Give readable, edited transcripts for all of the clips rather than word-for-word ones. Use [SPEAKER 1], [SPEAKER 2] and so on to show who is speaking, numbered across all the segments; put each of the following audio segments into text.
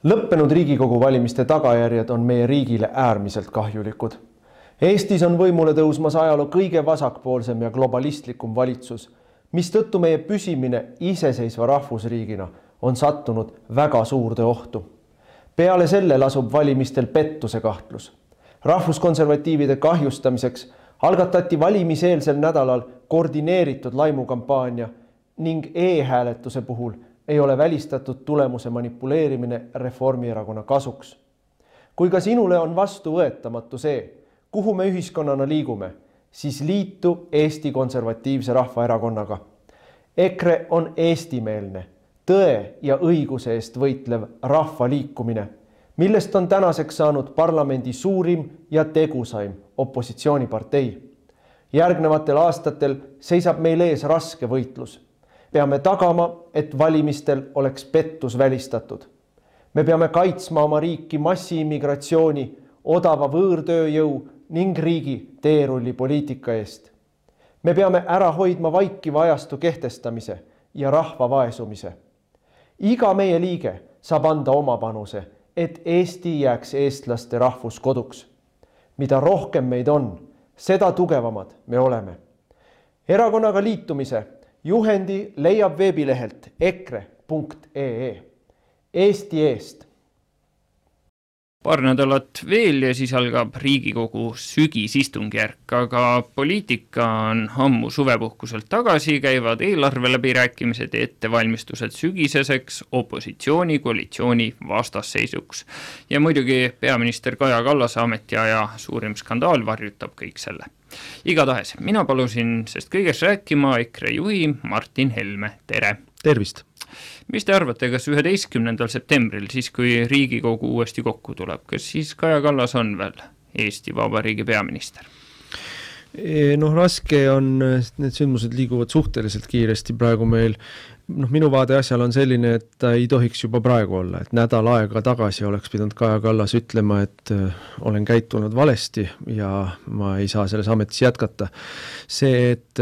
[SPEAKER 1] Lõppenud Riigikogu valimiste tagajärjed on meie riigile äärmiselt kahjulikud. Eestis on võimule tõusmas ajaloo kõige vasakpoolsem ja globalistlikum valitsus, mistõttu meie püsimine iseseisva rahvusriigina on sattunud väga suurde ohtu. Peale selle lasub valimistel pettuse kahtlus. Rahvuskonservatiivide kahjustamiseks algatati valimiseelsel nädalal koordineeritud laimukampaania ning e-hääletuse puhul ei ole välistatud tulemuse manipuleerimine Reformierakonna kasuks. Kui ka sinule on vastuvõetamatu see, kuhu me ühiskonnana liigume, siis liitu Eesti Konservatiivse Rahvaerakonnaga. EKRE on eestimeelne, tõe ja õiguse eest võitlev rahvaliikumine, millest on tänaseks saanud parlamendi suurim ja tegusaim opositsioonipartei. Järgnevatel aastatel seisab meil ees raske võitlus. Peame tagama, et valimistel oleks pettus välistatud. Me peame kaitsma oma riiki massiimmigratsiooni, odava võõrtööjõu ning riigi teerullipoliitika eest. Me peame ära hoidma vaikiva ajastu kehtestamise ja rahva vaesumise. Iga meie liige saab anda oma panuse, et Eesti jääks eestlaste rahvuskoduks. Mida rohkem meid on, seda tugevamad me oleme. Erakonnaga liitumise juhendi leiab veebilehelt ekre.ee. Eesti eest.
[SPEAKER 2] Paar nädalat veel ja siis algab Riigikogu sügisistungjärk, aga poliitika on ammu suvepuhkuselt tagasi, käivad eelarve läbirääkimised ja ettevalmistused sügiseseks opositsiooni koalitsiooni vastasseisuks. Ja muidugi peaminister Kaja Kallase ametiaja suurim skandaal varjutab kõik selle. Igatahes, mina palusin sest kõigest rääkima EKRE juhi Martin Helme. Tere!
[SPEAKER 3] Tervist!
[SPEAKER 2] Mis te arvate, kas 11. septembril, siis kui Riigikogu uuesti kokku tuleb, kas siis Kaja Kallas on veel Eesti Vabariigi peaminister?
[SPEAKER 3] Raske on, need sündmused liiguvad suhteliselt kiiresti praegu meil. Minu vaade asjal on selline, et ta ei tohiks juba praegu olla, et nädal aega tagasi oleks pidanud Kaja Kallas ütlema, et olen käitunud valesti ja ma ei saa selles ametis jätkata. See, et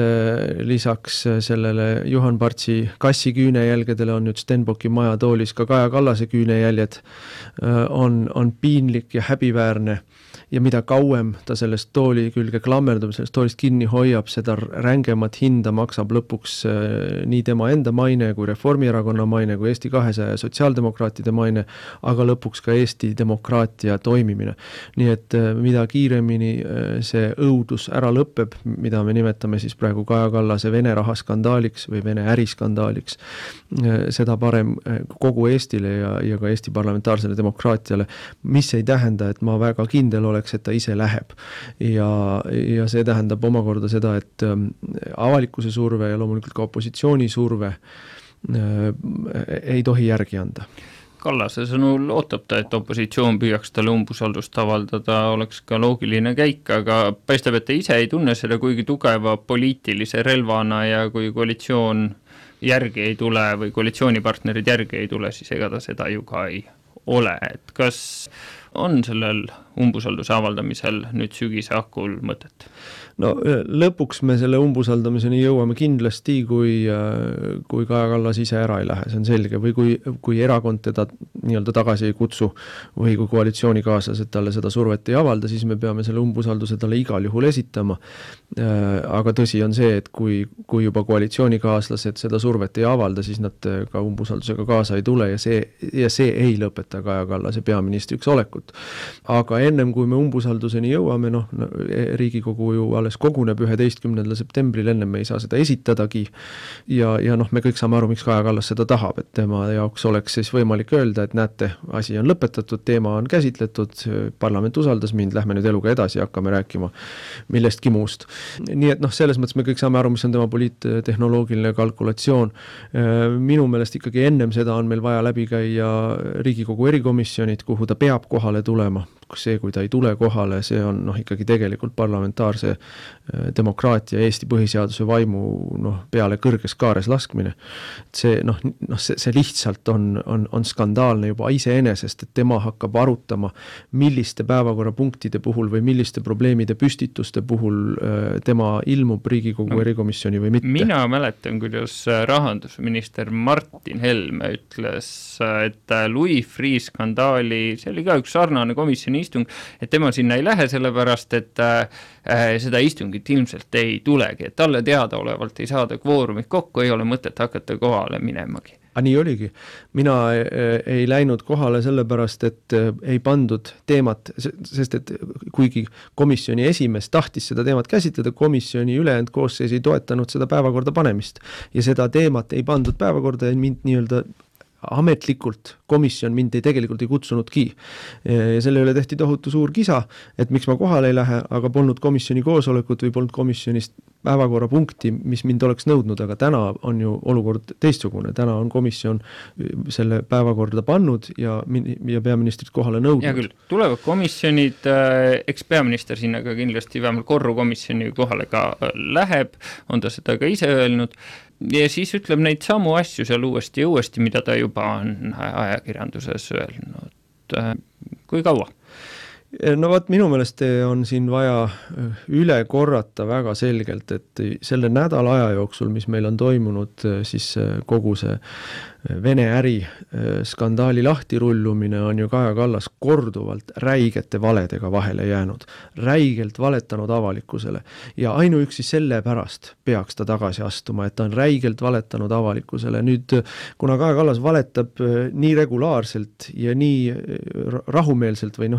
[SPEAKER 3] lisaks sellele Juhan Partsi kassi küünejälgedele on nüüd Stenbocki maja toolis ka Kaja Kallase küünejäljed, on piinlik ja häbiväärne. Ja mida kauem ta sellest tooli külge klammerdub, sellest toolist kinni hoiab, seda rängemat hinda maksab lõpuks nii tema enda maine kui Reformierakonna maine, kui Eesti 200 ja sotsiaaldemokraatide maine, aga lõpuks ka Eesti demokraatia toimimine. Nii et mida kiiremini see õudus ära lõpeb, mida me nimetame siis praegu Kaja Kallase Vene rahaskandaaliks või Vene äriskandaaliks, seda parem kogu Eestile ja ka Eesti parlamentaarsele demokraatiale, mis ei tähenda, et ma väga kindel oleks, et ta ise läheb. Ja see tähendab omakorda seda, et avalikkuse surve ja loomulikult ka opositsiooni surve ei tohi järgi anda.
[SPEAKER 2] Kallase sõnul ootab ta, et opositsioon püüaks talle umbusaldust avaldada, oleks ka loogiline käik, aga paistab, et ta ise ei tunne seda kuigi tugeva poliitilise relvana ja kui koalitsioon järgi ei tule või koalitsioonipartnerid järgi ei tule, siis ega ta seda ju ka ei ole. Et kas on sellel umbusalduse avaldamisel nüüd sügise hakul mõtet?
[SPEAKER 3] Lõpuks me selle umbusaldamiseni jõuame kindlasti, kui Kaja Kallas ise ära ei lähe, see on selge, või kui erakond teda nii-öelda tagasi ei kutsu või kui koalitsioonikaaslased talle seda survet ei avalda, siis me peame selle umbusalduse talle igal juhul esitama. Aga tõsi on see, et kui juba koalitsioonikaaslased seda survet ei avalda, siis nad ka umbusaldusega kaasa ei tule ja see ei lõpeta Kaja Kallase peaministriks olekut. Aga ennem kui me umbusalduseni jõuame, Riigikogu ju alles koguneb 11. septembril, ennem me ei saa seda esitadagi ja me kõik saame aru, miks Kaja Kallas seda tahab, et tema jaoks oleks siis võimalik öelda, et näete, asi on lõpetatud, teema on käsitletud, parlament usaldas mind, lähme nüüd eluga edasi ja hakkame rääkima millestki muust. Nii et selles mõttes me kõik saame aru, mis on tema poliittehnoloogiline kalkulatsioon. Minu meelest ikkagi ennem seda on meil vaja läbi käia Riigikogu erikomisjonid, kuhu ta peab kohale kohale tulema. See, kui ta ei tule kohale, see on ikkagi tegelikult parlamentaarse demokraatia Eesti põhiseaduse vaimu peale kõrges kaares laskmine. See, see lihtsalt on skandaalne juba iseenesest, et tema hakkab arutama, milliste päevakorrapunktide puhul või milliste probleemide püstituste puhul tema ilmub Riigikogu erikomisjoni või mitte.
[SPEAKER 2] Mina mäletan, kuidas rahandusminister Martin Helme ütles, et Louis Freeh skandaali, see oli ka üks sarnane komisjoni istung, et tema sinna ei lähe sellepärast, et seda istungit ilmselt ei tulegi, et talle teadaolevalt ei saada kvoorumit kokku, ei ole mõtet hakata kohale minemagi.
[SPEAKER 3] Nii oligi. Mina ei läinud kohale sellepärast, et ei pandud teemat, sest et kuigi komisjoni esimees tahtis seda teemat käsitleda, komisjoni ülejäänud koosseis ei toetanud seda päevakorda panemist ja seda teemat ei pandud päevakorda ja mind nii-öelda ametlikult komisjon mind tegelikult ei kutsunudki. Ja selle üle tehti tohutu suur kisa, et miks ma kohale ei lähe, aga polnud komisjoni koosolekut või polnud komisjonist päevakorrapunkti, mis mind oleks nõudnud, aga täna on ju olukord teistsugune. Täna on komisjon selle päevakorda pannud ja peaministrit kohale nõudnud.
[SPEAKER 2] Ja küll, tulevad komisjonid, eks peaminister sinna ka kindlasti vähemalt korrukomisjoni kohale ka läheb, on ta seda ka ise öelnud, ja siis ütleb neid samu asju seal uuesti ja uuesti, mida ta juba on ajakirjanduses öelnud. Kui kaua?
[SPEAKER 3] No vaat minu meelest on siin vaja üle korrata väga selgelt, et selle nädala aja jooksul, mis meil on toimunud, siis kogu see Vene äri skandaali lahtirullumine on ju Kaja Kallas korduvalt räigete valedega vahele jäänud, räigelt valetanud avalikkusele ja ainuüksi selle pärast peaks ta tagasi astuma, et ta on räigelt valetanud avalikkusele. Nüüd, kuna Kaja Kallas valetab nii regulaarselt ja nii rahumeelselt või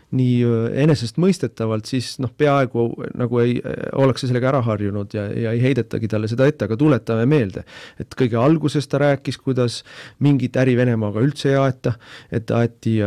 [SPEAKER 3] nii enesest mõistetavalt, siis peaaegu nagu ei oleks sellega ära harjunud ja ei heidetagi talle seda ette, aga tuletame meelde, et kõige alguses ta rääkis, kuidas mingit äri Venemaaga üldse ei aeta, et aeti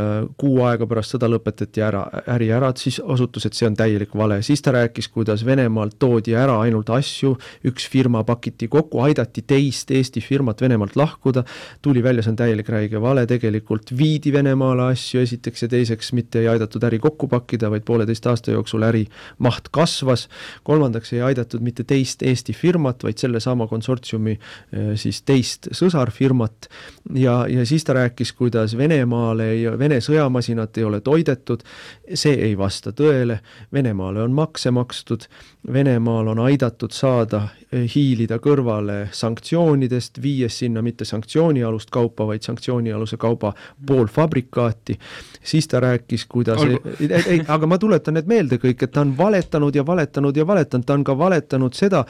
[SPEAKER 3] 6 aega pärast seda lõpetati äri ära, siis osutus, et see on täielik vale. Siis ta rääkis, kuidas Venemaalt toodi ära ainult asju, üks firma pakiti kokku, aidati teist Eesti firmat Venemaalt lahkuda, tuli välja, see on täielik räige vale, tegelikult viidi Venemaale asju esiteks ja teiseks mitte ei aidatud äri kokku pakkida, vaid 1,5 aasta jooksul äri maht kasvas, kolmandaks ei aidatud mitte teist Eesti firmat, vaid selle sama konsortsiumi siis teist sõsarfirmat ja siis ta rääkis, kuidas Venemaale Vene sõjamasinat ei ole toidetud, see ei vasta tõele, Venemaale on makse makstud, Venemaal on aidatud saada hiilida kõrvale sanktsioonidest, viies sinna mitte sanktsioonialust kaupa, vaid sanktsioonialuse kauba poolfabrikaati. Siis ta rääkis, kuidas aga ma tuletan need meelde kõik, et ta on valetanud ja valetanud ja valetanud, ta on ka valetanud seda,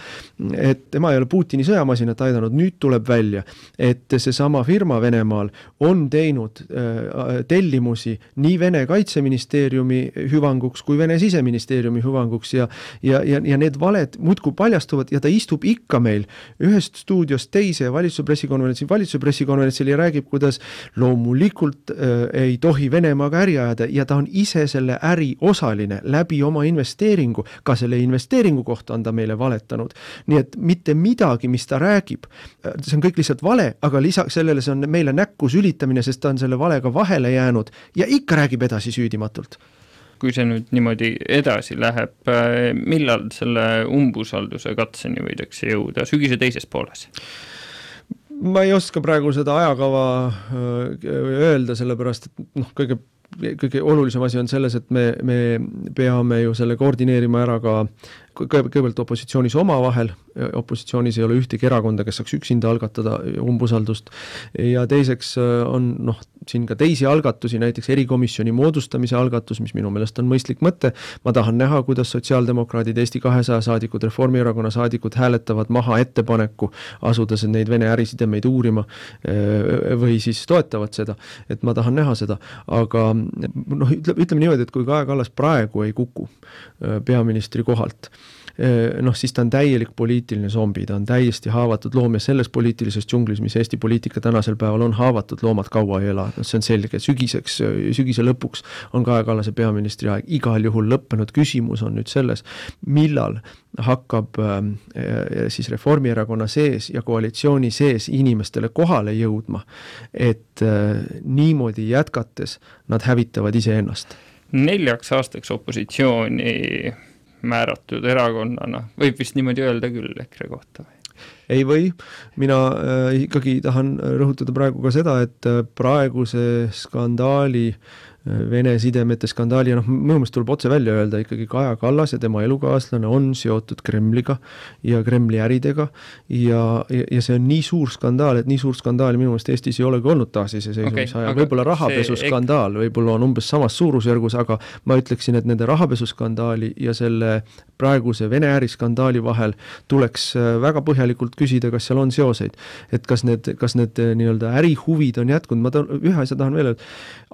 [SPEAKER 3] et tema ei ole Putini sõjamasinat aidanud, nüüd tuleb välja, et see sama firma Venemaal on teinud tellimusi nii Vene kaitseministeeriumi hüvanguks kui Vene siseministeeriumi hüvanguks ja need valed muudkui paljastuvad ja ta istub ikka meil ühest stuudiost teise valitsuse pressikonverentsil ja räägib, kuidas loomulikult ei tohi Venemaaga äri ajada ja ta on ise selle äri osaline läbi oma investeeringu, ka selle investeeringu kohta on ta meile valetanud. Nii et mitte midagi, mis ta räägib, see on kõik lihtsalt vale, aga lisaks sellele see on meile näkku sülitamine, sest ta on selle valega vahele jäänud ja ikka räägib edasi süüdimatult.
[SPEAKER 2] Kui see nüüd niimoodi edasi läheb, millal selle umbusalduse katseni võidakse jõuda? Sügise teises pooles?
[SPEAKER 3] Ma ei oska praegu seda ajakava öelda, sellepärast, et kõige olulisem asi on selles, et me peame ju selle koordineerima ära ka kõigepealt opositsioonis omavahel, opositsioonis ei ole ühtegi erakonda, kes saaks üksinda algatada umbusaldust ja teiseks on siin ka teisi algatusi, näiteks erikomisjoni moodustamise algatus, mis minu meelest on mõistlik mõte. Ma tahan näha, kuidas sotsiaaldemokraadid, Eesti 200 saadikud, Reformierakonna saadikud hääletavad maha ettepaneku asudes neid Vene ärisidemeid uurima või siis toetavad seda, et ma tahan näha seda, aga ütleme niimoodi, et kui Kaja Kallas praegu ei kuku peaministri kohalt, noh, siis ta on täielik poliitiline zombi, ta on täiesti haavatud loom ja selles poliitilises džunglis, mis Eesti poliitika tänasel päeval on, haavatud loomad kaua ei ela. See on selge, sügise lõpuks on Kaja Kallase peaministri aeg igal juhul lõppenud. Küsimus on nüüd selles, millal hakkab siis Reformierakonna sees ja koalitsiooni sees inimestele kohale jõudma, et niimoodi jätkates nad hävitavad iseennast.
[SPEAKER 2] 4 aastaks opositsiooni määratud erakonnana, võib vist niimoodi öelda küll EKRE kohta või?
[SPEAKER 3] Ei või, mina ikkagi tahan rõhutada praegu ka seda, et praeguse skandaali, Vene sidemete skandaali, ja noh, minu meelest tuleb otse välja öelda, ikkagi Kaja Kallas ja tema elukaaslane on seotud Kremliga ja Kremli äridega ja see on nii suur skandaal, et nii suur skandaali minu meelest Eestis ei olegi olnud taasiseseisvumise ajal. Võib-olla rahapesuskandaal, võib-olla on umbes samas suurusjärgus, aga ma ütleksin, et nende rahapesuskandaali ja selle praeguse Vene äriskandaali vahel tuleks väga põhjalikult küsida, kas seal on seoseid. Et kas need nii-öelda ärihuvid on jätkunud. Ma ühe asja tahan veel öelda.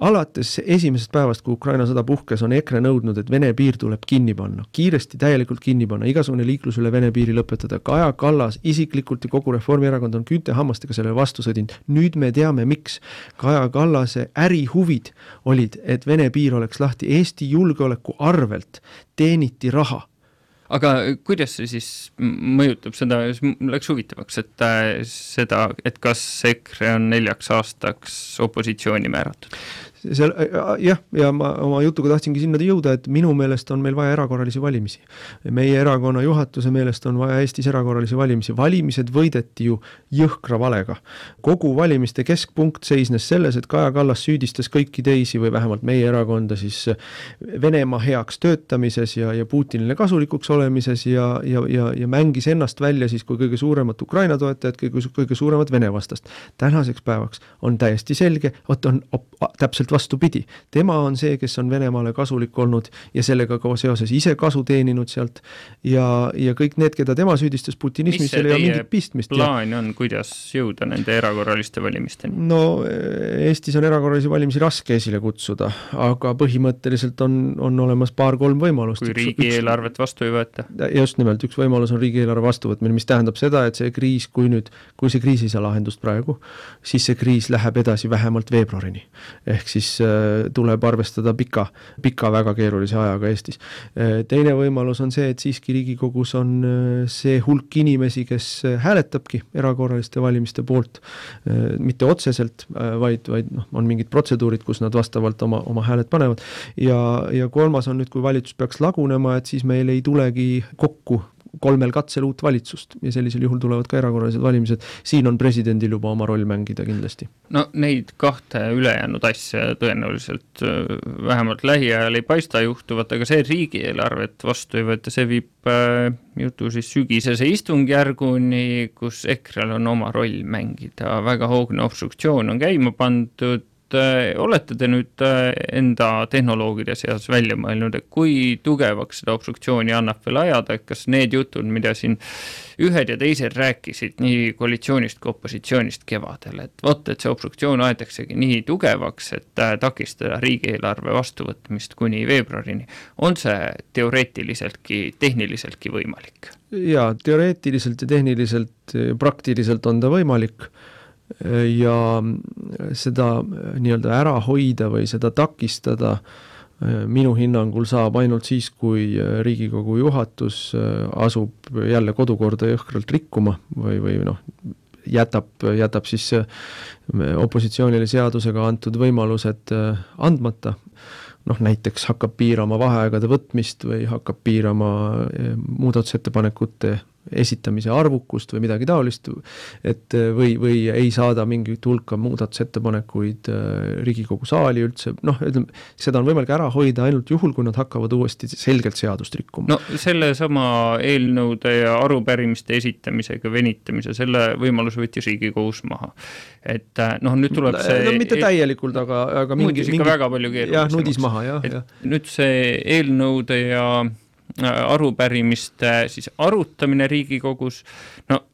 [SPEAKER 3] Alates esimesest päevast, kui Ukraina sõda puhkes, on EKRE nõudnud, et Vene piir tuleb kinni panna. Kiiresti, täielikult kinni panna, igasugune liiklus üle Vene piiri lõpetada. Kaja Kallas isiklikult ja kogu Reformierakond on küünte hammastega selle vastu sõdinud. Nüüd me teame, miks. Kaja Kallase ärihuvid olid, et Vene piir oleks lahti. Eesti julgeoleku arvelt teeniti raha.
[SPEAKER 2] Aga kuidas see siis mõjutab seda, läks huvitavaks, et kas EKRE on 4 aastaks opositsiooni määratud?
[SPEAKER 3] Jah, ja ma oma jutuga tahtsingi sinna jõuda, et minu meelest on meil vaja erakorralisi valimisi. Meie erakonna juhatuse meelest on vaja Eestis erakorralisi valimisi. Valimised võideti ju jõhkra valega. Kogu valimiste keskpunkt seisnes selles, et Kaja Kallas süüdistas kõiki teisi või vähemalt meie erakonda siis Venemaa heaks töötamises ja Putinile kasulikuks olemises ja mängis ennast välja siis kui kõige suuremat Ukraina toetajat, kõige suuremat Vene vastast. Tänaseks päevaks on täiesti selge, on täpselt vastupidi. Tema on see, kes on Venemaale kasulik olnud ja sellega ka seoses ise kasu teeninud sealt ja kõik need, keda tema süüdistas putinismis, seal ei ole mingit pistmist.
[SPEAKER 2] Mis see teie plaan on, kuidas jõuda nende erakorraliste valimisteni?
[SPEAKER 3] No Eestis on erakorralisi valimisi raske esile kutsuda, aga põhimõtteliselt on olemas 2-3 võimalust.
[SPEAKER 2] Kui riigieelarvet vastu ei võeta?
[SPEAKER 3] Just nimelt, üks võimalus on riigieelarve vastuvõtmine, mis tähendab seda, et see kriis, kui see kriis ei saa lahendust praegu, siis see kriis läheb edasi vähemalt veebruarini. Ehk siis tuleb arvestada pika väga keerulise ajaga Eestis. Teine võimalus on see, et siiski Riigikogus on see hulk inimesi, kes hääletabki erakorraliste valimiste poolt, mitte otseselt, vaid on mingid protseduurid, kus nad vastavalt oma hääled panevad. Ja kolmas on nüüd, kui valitsus peaks lagunema, et siis meil ei tulegi kokku 3 katsel uut valitsust ja sellisel juhul tulevad ka erakorralised valimised. Siin on presidendil juba oma roll mängida kindlasti.
[SPEAKER 2] No neid 2 ülejäänud asja tõenäoliselt vähemalt lähiajal ei paista juhtuvat, aga see riigieelarvet vastu ei võeta, see viib jutu siis sügisese istungjärguni, kus EKRE-l on oma roll mängida. Väga hoogne obstruktsioon on käima pandud. Olete te nüüd enda tehnoloogide seas välja mõelnud, et kui tugevaks seda obstruktsiooni annab veel ajada, et kas need jutud, mida siin ühed ja teised rääkisid nii koalitsioonist kui opositsioonist kevadel, et see obstruktsioon aetaksegi nii tugevaks, et takistada riigieelarve vastuvõtmist kuni veebruarini. On see teoreetiliseltki, tehniliseltki võimalik?
[SPEAKER 3] Ja teoreetiliselt ja tehniliselt, praktiliselt on ta võimalik. Ja seda nii-öelda ära hoida või seda takistada minu hinnangul saab ainult siis, kui Riigikogu juhatus asub jälle kodukorda jõhkralt rikkuma või jätab siis opositsioonile seadusega antud võimalused andmata. Näiteks hakkab piirama vaheaegade võtmist või hakkab piirama muudatusettepanekute esitamise arvukust või midagi taolist, et või ei saada mingit hulka muudatusettepanekuid Riigikogu saali üldse. Seda on võimalik ära hoida ainult juhul, kui nad hakkavad uuesti selgelt seadust rikkuma.
[SPEAKER 2] Selle sama eelnõude ja arupärimiste esitamisega venitamise, selle võimalus võttis Riigikogus maha. Et nüüd tuleb see...
[SPEAKER 3] mitte täielikult, aga
[SPEAKER 2] nudis ikka väga palju keerulisemaks.
[SPEAKER 3] Jah, nudis maha, jah.
[SPEAKER 2] Nüüd see eelnõude ja arupärimiste siis arutamine Riigikogus,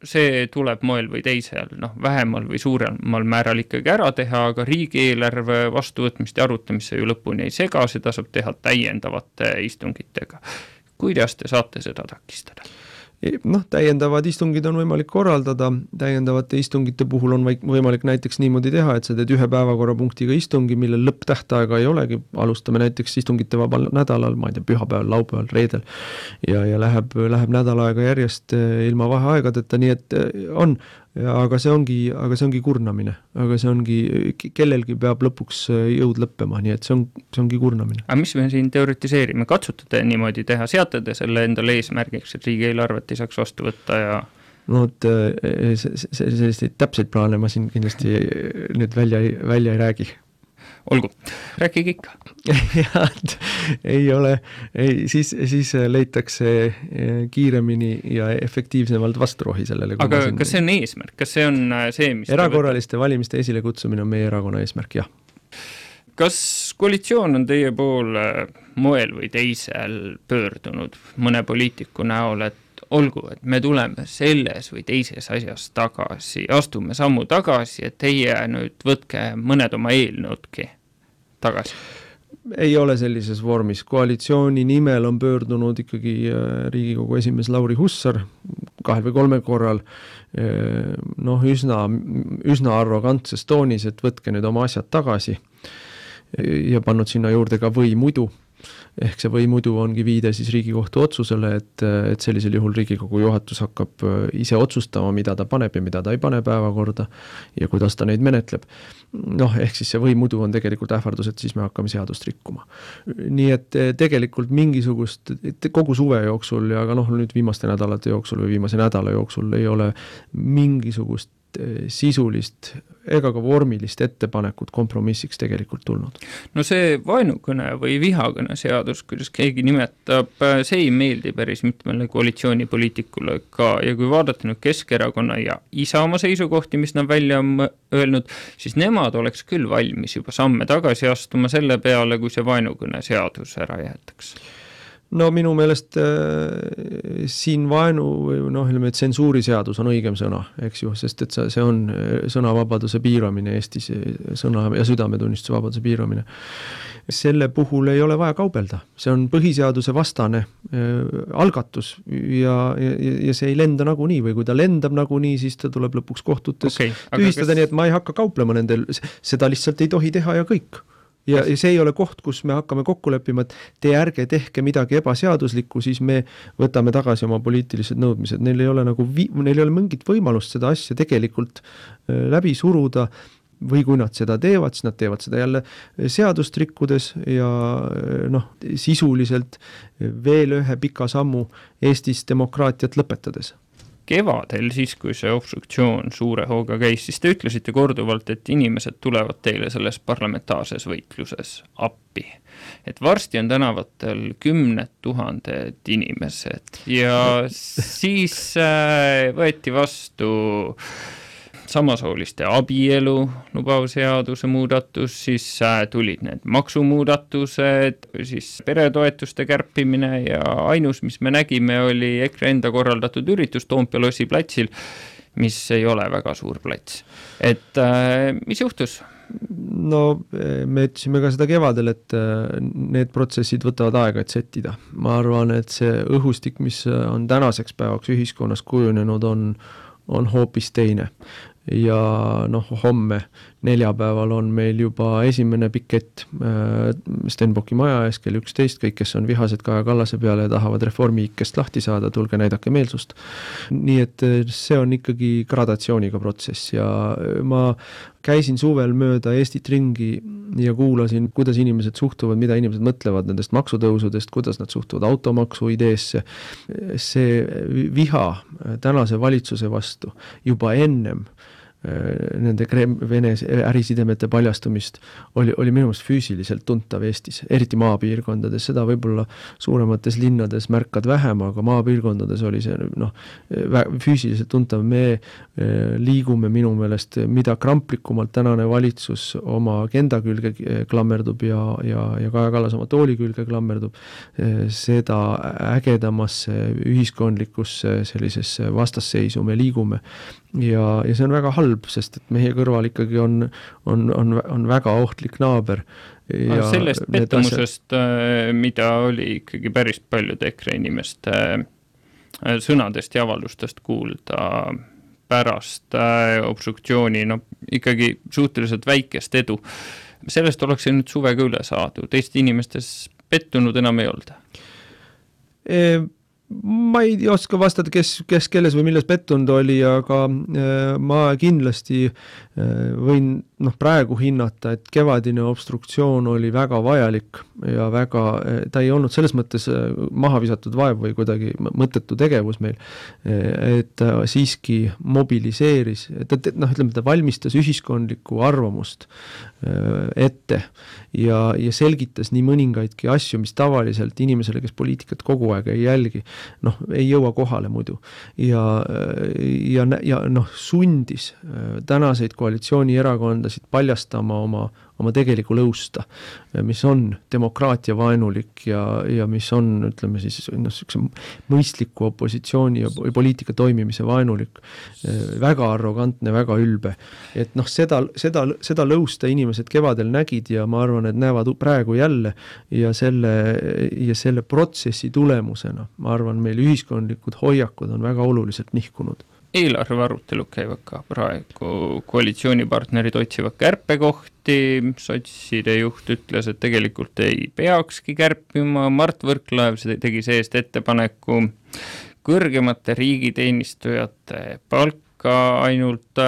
[SPEAKER 2] see tuleb moel või teisel, vähemal või suuremal määral ikkagi ära teha, aga riigieelarve vastuvõtmist ja arutamisse ju lõpuni ei sega, seda saab teha täiendavate istungitega. kuidas te saate seda takistada?
[SPEAKER 3] Noh, täiendavad istungid on võimalik korraldada, täiendavate istungite puhul on võimalik näiteks niimoodi teha, et sa teed ühe päevakorrapunktiga istungi, millel lõpptähtaega ei olegi, alustame näiteks istungite vabal nädalal, ma ei tea, pühapäeval, laupäeval, reedel ja läheb nädal aega järjest ilma vaheaegadeta, nii et on, aga see ongi kurnamine, aga see ongi, kellelgi peab lõpuks jõud lõppema, nii et see ongi kurnamine.
[SPEAKER 2] Aga mis me siin teoritiseerime, katsutate niimoodi teha, seate te selle endale eesmärgiks, et riigieelarvet ei saaks vastu võtta ja
[SPEAKER 3] no et selliseid täpseid plaane ma siin kindlasti nüüd välja ei räägi.
[SPEAKER 2] Olgu, rääkige ikka.
[SPEAKER 3] ei ole, siis leitakse kiiremini ja efektiivsemalt vasturohi sellele.
[SPEAKER 2] Aga kas see on eesmärk? Kas see on see, mis
[SPEAKER 3] erakorraliste valimiste esile kutsumine on meie erakonna eesmärk, jah.
[SPEAKER 2] Kas koalitsioon on teie poole moel või teisel pöördunud mõne poliitiku näol, et olgu, et me tuleme selles või teises asjas tagasi, astume sammu tagasi, et teie nüüd võtke mõned oma eelnõudki tagasi?
[SPEAKER 3] Ei ole sellises vormis. Koalitsiooni nimel on pöördunud ikkagi Riigikogu esimees Lauri Hussar 2 või 3 korral üsna arrogantses toonis, et võtke nüüd oma asjad tagasi ja pannud sinna juurde ka või muidu. Ehk see või muidu ongi viide siis Riigikohtu otsusele, et sellisel juhul Riigikogu juhatus hakkab ise otsustama, mida ta paneb ja mida ta ei pane päevakorda ja kuidas ta neid menetleb. Ehk siis see või muidu on tegelikult ähvardus, et siis me hakkame seadust rikkuma. Nii et tegelikult mingisugust, kogu suve jooksul ja ka nüüd viimaste nädalate jooksul või viimase nädala jooksul ei ole mingisugust sisulist ega ka vormilist ettepanekut kompromissiks tegelikult tulnud. No
[SPEAKER 2] see vaenukõne või vihakõne seadus, kuidas keegi nimetab, see ei meeldi päris mitmele koalitsioonipoliitikule ka ja kui vaadata nüüd Keskerakonna ja Isamaa seisukohti, mis nad välja on öelnud, siis nemad oleks küll valmis juba samme tagasi astuma selle peale, kui see vaenukõne seadus ära jäetaks.
[SPEAKER 3] No minu meelest siin tsensuuriseadus on õigem sõna, eks ju, sest et see on sõnavabaduse piiramine Eestis, sõna- ja südametunnistuse vabaduse piiramine. Selle puhul ei ole vaja kaubelda, see on põhiseaduse vastane algatus ja see ei lenda nagunii või kui ta lendab nagunii, siis ta tuleb lõpuks kohtutes tühistada, nii et ma ei hakka kauplema nendel, seda lihtsalt ei tohi teha ja kõik. Ja see ei ole koht, kus me hakkame kokku leppima, et te ärge tehke midagi ebaseaduslikku, siis me võtame tagasi oma poliitilised nõudmised. Neil ei ole mingit võimalust seda asja tegelikult läbi suruda või kui nad seda teevad, siis nad teevad seda jälle seadust rikkudes ja sisuliselt veel ühe pika sammu Eestis demokraatiat lõpetades.
[SPEAKER 2] Kevadel siis, kui see obstruktsioon suure hooga käis, siis te ütlesite korduvalt, et inimesed tulevad teile selles parlamentaarses võitluses appi. Et varsti on tänavatel 10 000 inimesed ja siis võeti vastu samasooliste abielu lubav seaduse muudatus, siis tulid need maksumuudatused, siis peretoetuste kärpimine ja ainus, mis me nägime, oli EKRE enda korraldatud üritus Toompea lossi platsil, mis ei ole väga suur plats. Et mis juhtus?
[SPEAKER 3] No me ütlesime ka seda kevadel, et need protsessid võtavad aega, et settida. Ma arvan, et see õhustik, mis on tänaseks päevaks ühiskonnas kujunenud, on hoopis teine. Ja homme neljapäeval on meil juba esimene pikett Stenbocki maja ees kell 11, kõik, kes on vihased Kaja Kallase peale ja tahavad reformi ikkest lahti saada, tulge näidake meelsust. Nii et see on ikkagi gradatsiooniga protsess ja ma käisin suvel mööda Eestit ringi ja kuulasin, kuidas inimesed suhtuvad, mida inimesed mõtlevad nendest maksutõusudest, kuidas nad suhtuvad automaksu ideesse. See viha tänase valitsuse vastu juba ennem nende Vene ärisidemete paljastumist oli minu meelest füüsiliselt tuntav Eestis, eriti maapiirkondades, seda võib-olla suuremates linnades märkad vähem, aga maapiirkondades oli see füüsiliselt tuntav. Me liigume minu meelest, mida kramplikumalt tänane valitsus oma agenda külge klammerdub ja Kaja Kallas oma tooli külge klammerdub, seda ägedamasse ühiskondlikusse sellisesse vastasseisu me liigume ja see on väga halb, sest et meie kõrval ikkagi on väga ohtlik naaber,
[SPEAKER 2] sellest pettumusest, mida oli ikkagi päris paljude EKRE inimeste sõnadest ja avaldustest kuulda pärast obstruktsiooni, ikkagi suhteliselt väikest edu. Sellest oleks nüüd suvega üle saadud, Eesti inimestes pettunud enam ei olda?
[SPEAKER 3] Ma ei oska vastata, kes kelles või milles pettunud oli, aga ma kindlasti võin praegu hinnata, et kevadine obstruktsioon oli väga vajalik ja ta ei olnud selles mõttes maha visatud vaev või kuidagi mõttetu tegevus meil, et ta siiski mobiliseeris, ta valmistas ühiskondlikku arvamust ette ja selgitas nii mõningaidki asju, mis tavaliselt inimesele, kes poliitikat kogu aeg ei jälgi, ei jõua kohale muidu ja sundis tänaseid koalitsioonierakondasid paljastama oma tegeliku lõusta, mis on demokraatia vaenulik ja mis on, ütleme siis, mõistliku opositsiooni ja poliitika toimimise vaenulik, väga arrogantne, väga ülbe. Et seda lõusta inimesed kevadel nägid ja ma arvan, et näevad praegu jälle ja selle protsessi tulemusena, ma arvan, meil ühiskondlikud hoiakud on väga oluliselt nihkunud.
[SPEAKER 2] Eelarve arutelud käivad ka praegu, koalitsioonipartnerid otsivad kärpekohti, sotside juht ütles, et tegelikult ei peakski kärpima, Mart Võrklaev tegi seest ettepaneku kõrgemate riigiteenistujate palka ainult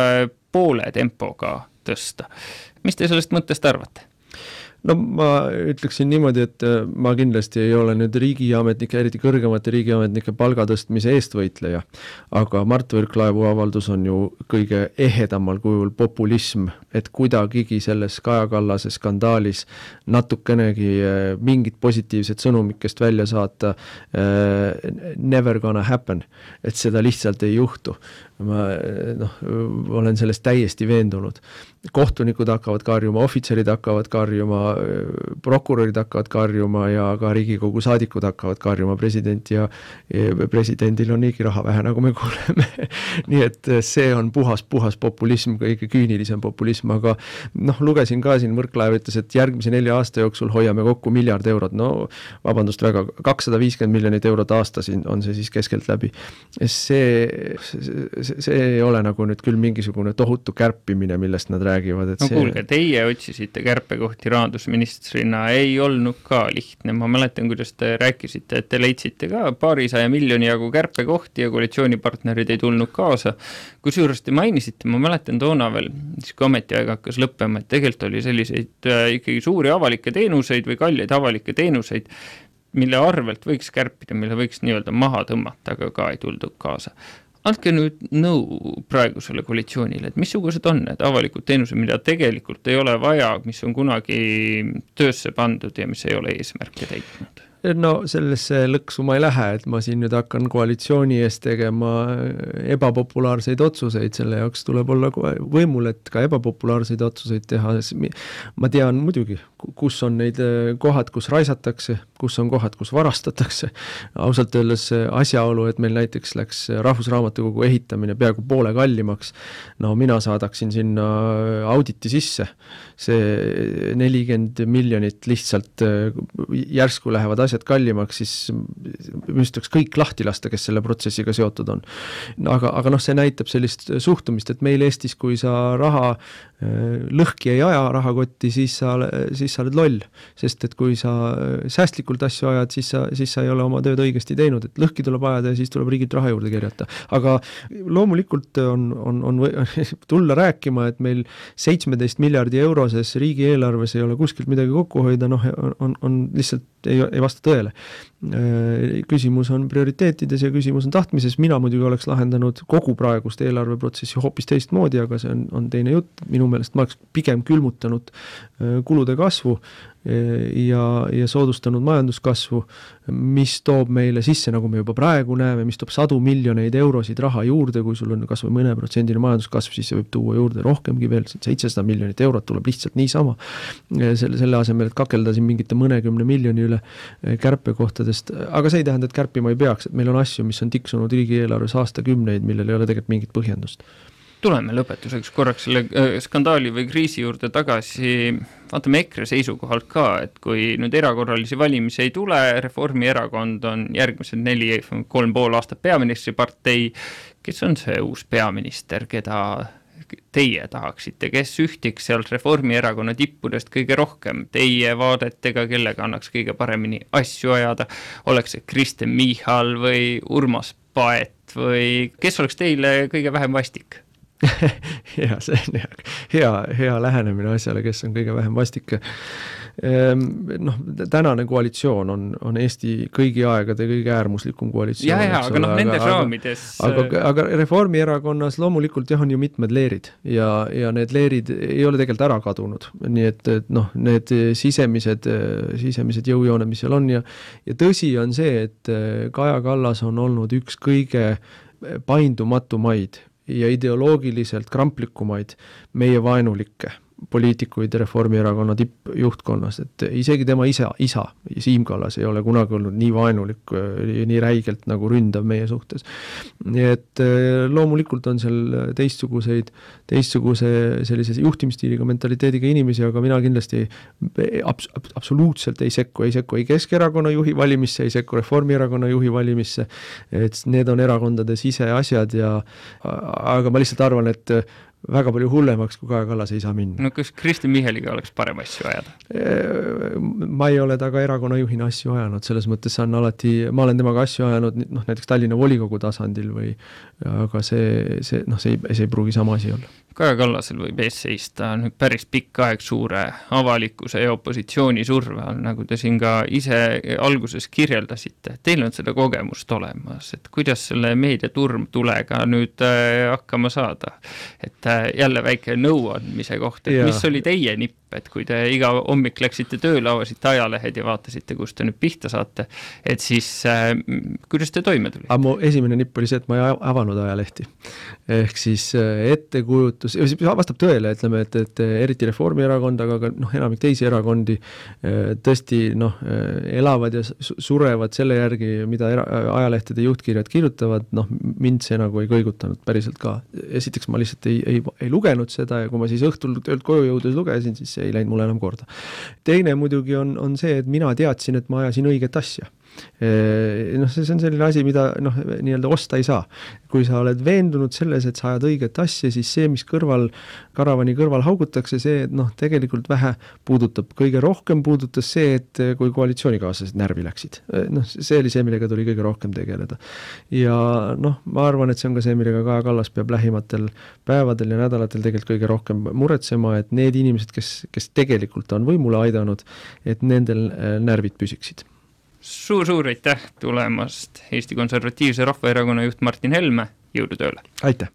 [SPEAKER 2] poole tempoga tõsta. Mis te sellest mõttest arvate?
[SPEAKER 3] Ma ütleksin niimoodi, et ma kindlasti ei ole nüüd riigiametnike, eriti kõrgemate riigiametnike palgatõstmise eestvõitleja, aga Mart Võrklaevu avaldus on ju kõige ehedamal kujul populism, et kuidagigi selles Kaja Kallase skandaalis natukenegi mingit positiivset sõnumikest välja saata, never gonna happen, et seda lihtsalt ei juhtu. Ma olen sellest täiesti veendunud. Kohtunikud hakkavad karjuma, ohvitserid hakkavad karjuma, prokurörid hakkavad karjuma ja ka Riigikogu saadikud hakkavad karjuma, presidendil on niigi raha vähe, nagu me kuuleme. Nii et see on puhas populism, kõige küünilisem populism, aga lugesin ka siin, Võrklaev ütles, et järgmise 4 aasta jooksul hoiame kokku 1 miljard eurot. Vabandust väga, 250 miljonit eurot aastas on see siis keskelt läbi. See ei ole nagu nüüd küll mingisugune tohutu kärpimine, millest nad räägivad. Et
[SPEAKER 2] kuulge, teie otsisite kärpekohti rahandusministrina, ei olnud ka lihtne. Ma mäletan, kuidas te rääkisite, et te leidsite ka 200 miljoni jagu kärpekohti ja koalitsioonipartnerid ei tulnud kaasa. Kui suuresti mainisite, ma mäletan toona veel, siis kui ametiaeg hakkas lõppema, et tegelikult oli selliseid ikkagi suuri avalikke teenuseid või kalleid avalikke teenuseid, mille arvelt võiks kärpida, mille võiks nii-öelda maha tõmmata, aga ka ei tuldud kaasa. Andke nüüd nõu praegusele koalitsioonile, et missugused on need avalikud teenused, mida tegelikult ei ole vaja, mis on kunagi töösse pandud ja mis ei ole eesmärke täitnud?
[SPEAKER 3] Sellesse lõksu ma ei lähe, et ma siin nüüd hakkan koalitsiooni ees tegema ebapopulaarseid otsuseid, selle jaoks tuleb olla võimul, et ka ebapopulaarseid otsuseid teha. Ma tean muidugi, kus on neid kohad, kus raisatakse, kus on kohad, kus varastatakse. Ausalt öeldes asjaolu, et meil näiteks läks Rahvusraamatukogu ehitamine peaaegu poole kallimaks. Mina saadaksin sinna auditi sisse. See 40 miljonit lihtsalt järsku lähevad asjad kallimaks, siis müstaks kõik lahti lasta, kes selle protsessiga seotud on. Aga see näitab sellist suhtumist, et meil Eestis, kui sa raha lõhki ei aja rahakotti, siis sa oled loll. Sest et kui sa säästlikult asju ajad, siis sa ei ole oma tööd õigesti teinud, et lõhki tuleb ajada ja siis tuleb riigilt raha juurde kerjata. Aga loomulikult on tulla rääkima, et meil 17 miljardi euroses riigieelarves ei ole kuskilt midagi kokku hoida, on lihtsalt ei vasta tõele. Küsimus on prioriteetides ja küsimus on tahtmises. Mina muidugi oleks lahendanud kogu praegust eelarveprotsessi hoopis teistmoodi, aga see on teine jutt. Minu meelest ma oleks pigem külmutanud kulude kasvu ja soodustanud majanduskasvu, mis toob meile sisse, nagu me juba praegu näeme, mis toob 100 miljoneid eurosid raha juurde, kui sul on kas või mõne protsendine majanduskasv, siis see võib tuua juurde rohkemgi veel, 700 miljonit eurot tuleb lihtsalt niisama. Selle asemel, et kakelda siin mingite mõnekümne miljoni üle kärpekohtadest, aga see ei tähenda, et kärpima ei peaks, et meil on asju, mis on tiksunud riigieelarves aastakümneid, millel ei ole tegelikult mingit põhjendust.
[SPEAKER 2] Tuleme lõpetuseks korraks selle skandaali või kriisi juurde tagasi. Vaatame EKRE seisukohalt ka, et kui nüüd erakorralisi valimisi ei tule, Reformierakond on järgmised 3,5 aastat peaministripartei. Kes on see uus peaminister, keda teie tahaksite, kes ühtiks sealt Reformierakonna tippudest kõige rohkem teie vaadetega, kellega annaks kõige paremini asju ajada? Oleks see Kristen Michal või Urmas Paet või kes oleks teile kõige vähem vastik?
[SPEAKER 3] Ja, see on hea lähenemine asjale, kes on kõige vähem vastik. Tänane koalitsioon on Eesti kõigi aegade kõige äärmuslikum koalitsioon.
[SPEAKER 2] Aga nendes raamides...
[SPEAKER 3] Aga Reformierakonnas loomulikult on ju mitmed leerid ja need leerid ei ole tegelikult ära kadunud. Nii et need sisemised jõujooned, mis seal on ja tõsi on see, et Kaja Kallas on olnud üks kõige paindumatumaid ja ideoloogiliselt kramplikumaid meie vaenulikke poliitikuid Reformierakonna tippjuhtkonnas, et isegi tema isa Siim Kallas ei ole kunagi olnud nii vaenulik, nii räigelt nagu ründav meie suhtes. Nii et loomulikult on seal teistsuguse sellise juhtimstiiliga, mentaliteediga inimesi, aga mina kindlasti absoluutselt ei sekku ei Keskerakonna juhi valimisse, ei sekku Reformierakonna juhi valimisse, et need on erakondade siseasjad aga ma lihtsalt arvan, et väga palju hullemaks, kui Kaja Kallas ei saa minna.
[SPEAKER 2] No kas Kristen Michaliga oleks parem asju ajada?
[SPEAKER 3] Ma ei ole taga erakonna juhina asju ajanud, selles mõttes ma olen temaga asju ajanud näiteks Tallinna volikogu tasandil aga see ei pruugi sama asi olla.
[SPEAKER 2] Kaja Kallasel võib ees seista nüüd päris pikk aeg suure avalikkuse ja opositsiooni surve all, nagu te siin ka ise alguses kirjeldasite. Teil on seda kogemust olemas, et kuidas selle meediaturmtulega nüüd hakkama saada? Et jälle väike nõuandmise koht, et mis oli teie nipp, et kui te iga hommik läksite tööle, avasite ajalehed ja vaatasite, kus te nüüd pihta saate, et siis kuidas te toime tuli?
[SPEAKER 3] Mu esimene nipp oli see, et ma ei avanud ajalehti. Ehk siis ettekujutus, vastab tõele, ütleme, et eriti Reformierakond, aga enamik teisi erakondi tõesti elavad ja surevad selle järgi, mida ajalehtede juhtkirjad kirjutavad, mind see nagu ei kõigutanud päriselt ka. Esiteks ma lihtsalt ei lugenud seda ja kui ma siis õhtul töölt koju jõudes lugesin, siis see ei läinud mulle enam korda. Teine muidugi on see, et mina teadsin, et ma ajasin õiget asja. See on selline asi, mida nii-öelda osta ei saa. Kui sa oled veendunud selles, et sa ajad õiget asja, siis see, mis karavani kõrval haugutakse, see tegelikult vähe puudutab. Kõige rohkem puudutas see, et kui koalitsioonikaaslased närvi läksid. See oli see, millega tuli kõige rohkem tegeleda. Ja ma arvan, et see on ka see, millega Kaja Kallas peab lähimatel päevadel ja nädalatel tegelikult kõige rohkem muretsema, et need inimesed, kes tegelikult on võimule aidanud, et nendel närvid püsiksid.
[SPEAKER 2] Suur aitäh tulemast Eesti Konservatiivse Rahvaerakonna juht Martin Helme, jõudu tööle!
[SPEAKER 3] Aitäh!